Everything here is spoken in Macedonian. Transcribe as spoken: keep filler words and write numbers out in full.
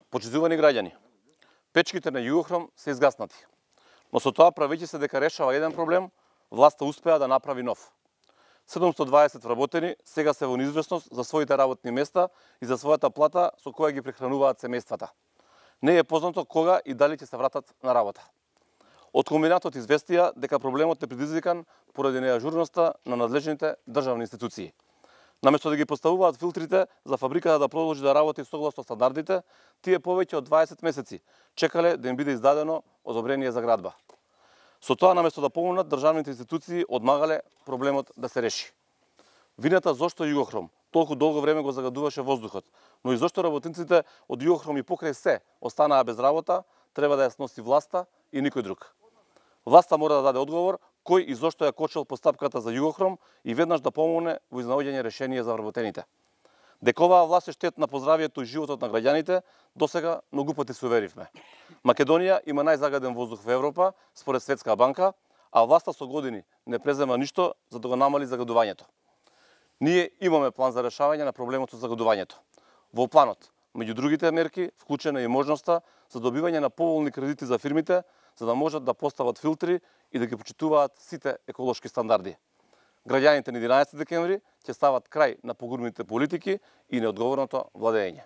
Почитувани граѓани, печките на Југохром се изгаснати, но со тоа правејќи се дека решава еден проблем, власта успеа да направи нов. седумстотини и дваесет вработени сега се во неизвестност за своите работни места и за својата плата со која ги прехрануваат семејствата. Не е познато кога и дали ќе се вратат на работа. Од комбинатот известија дека проблемот е предизвикан поради неажурноста на надлежните државни институции. Наместо да ги поставуваат филтрите за фабриката да продолжи да работи согласно стандардите, тие повеќе од дваесет месеци чекале да им биде издадено одобрение за градба. Со тоа, наместо да помогнат, државните институции одмагале проблемот да се реши. Вината зошто Југохром толку долго време го загадуваше воздухот, но и зошто работниците од Југохром и покрај се останаа без работа, треба да ја сноси власта и никој друг. Власта мора да даде одговор кој и зошто ја кочел постапката за Југохром и веднаш да помогне во изнаоѓање решение за вработените. Дека оваа власт е штетна по здравието и животот на граѓаните, досега многу пати се уверивме. Македонија има најзагаден воздух во Европа, според Светска банка, а власта со години не презема ништо за да го намали загадувањето. Ние имаме план за решавање на проблемот со загадувањето. Во планот, меѓу другите мерки, вклучена е и можноста за добивање на поволни кредити за фирмите, за да можат да постават филтри и да ги почитуваат сите еколошки стандарди. Граѓаните на единаесети декември ќе стават крај на погубните политики и неодговорното владење.